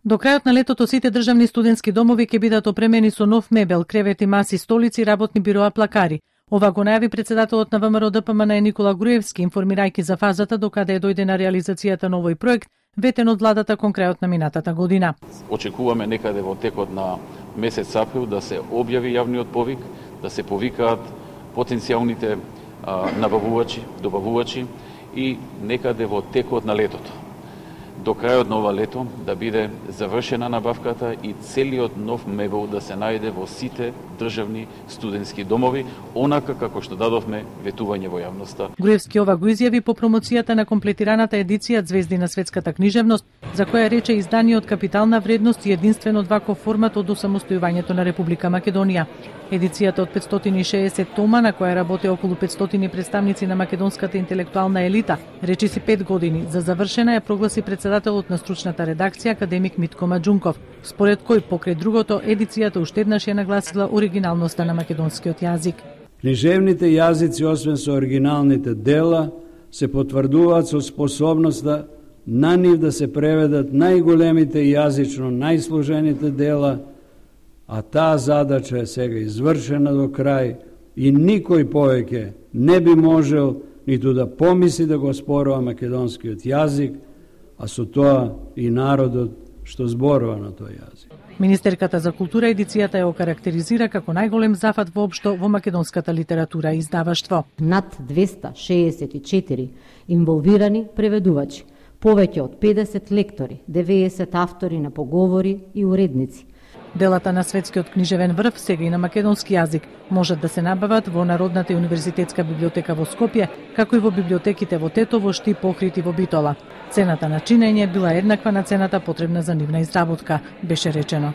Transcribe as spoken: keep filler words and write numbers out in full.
До крајот на летото сите државни студентски домови ќе бидат опремени со нов мебел, кревети, маси, столици, работни бироа, плакари. Ова го најави председателот на ВМРО Д П М Н Никола Груевски, информирајќи за фазата до каде е дојде на реализацијата на овој проект, ветен од владата кон крајот на минатата година. Очекуваме некаде во текот на месец април да се објави јавниот повик, да се повикаат потенцијалните а, набавувачи, добавувачи и некаде во текот на летото. До крајот на ова лето да биде завршена набавката и целиот нов мебел да се најде во сите државни студентски домови, онака како што дадовме ветување во јавноста. Груевски ова го изјави по промоцијата на комплетираната едиција Звезди на светската книжевност, за која рече изданиот капитална вредност и единствен од ваков формат од осамостојувањето на Република Македонија. Едицијата од петстотини и шеесет тома, на која работи околу петстотини представници на македонската интелектуална елита, речиси пет години за завршена, ја прогласи председателот на стручната редакција академик Митко Маџунков, според кој покрај другото едицијата уште еднаш ја нагласила оригиналноста на македонскиот јазик. Книжевните јазици, освен со оригиналните дела, се потврдуваат со способноста на нив да се преведат најголемите јазично најсложените дела, а таа задача е сега извршена до крај и никој повеќе не би можел ниту да помисли да го спорува македонскиот јазик, а со тоа и народот што зборува на тој јазик. Министерката за култура едицијата ја окарактеризира како најголем зафат воопшто во македонската литература и издаваштво. Над двесте шеесет и четири инволвирани преведувачи, повеќе од педесет лектори, деветдесет автори на поговори и уредници. Делата на светскиот книжевен врв, сега и на македонски јазик, можат да се набават во Народната универзитетска библиотека во Скопје, како и во библиотеките во Тетово, Штип, Охрид и во Битола. Цената на чинење била еднаква на цената потребна за нивна изработка, беше речено.